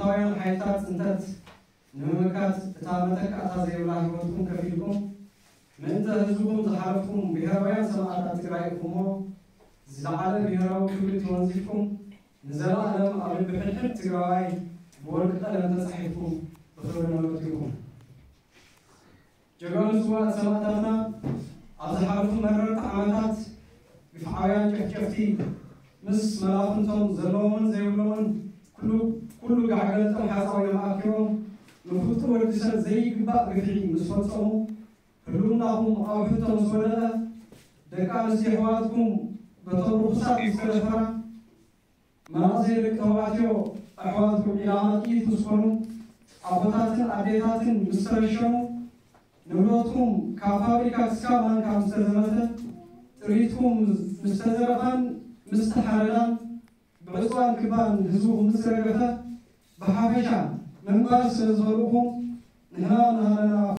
ብፋሽስታውያን ሓይልታት ጽንተት ንምምካት እታ መተካእታ ዘይብላ ህይወትኩም ከፊልኩም ምእንተ ህዝብኹም ዝሓለፍኩም ብሄራውያን ሰማእታት ትግራይ ኢኹሞ። ዝለዓለ ብሄራዊ ክብሪ ተወንዚፍኩም ንዘለኣለም ኣብ ልቢ ሕድሕድ ትግራዋይ ብወርቂ ቀለም ተጻሒፍኩም ብኽብሪ ንነብር ኢኹም። ጀጋኑ ስውኣት ሰማእታትና ኣብ ዝሓለፉ መረርቲ ዓመታት ግፍዓውያን ጨፍጨፍቲ ምስ መላፍንቶም ዘለዎምን ዘይብሎምን ኩሉ ኩሉ ጋዕገልጦም ሓፃዊኖም ኣኪቦም ንፍጡር ወዲ ሰብ ዘይግባእ ግፍዒ ምስ ፈፀሙ ህልውናኹም ኣብ ሕቶ ምስ ወደቐ ደቂ ኣንስትዮ ኣሕዋትኩም በቶም ርኹሳት ምስ ተደፈራ መናእሰይ ደቂ ተባዕትዮ ኣሕዋትኩም ኢላማ ጥይት ምስ ኮኑ ኣቦታትን ኣዴታትን ምስ ተረሸኑ ንብረትኩም ካብ ፋብሪካ ክስካብ ማንካ ምስ ተዘመተ ጥሪትኩም ምስ ተዘረፋን ምስ ተሓረዳን ብዕፅዋን ክባን ህዝብኹም ምስ ረገፈ ብሓፈሻ ምንባር ስለ ዝኸልእኹም ንሕና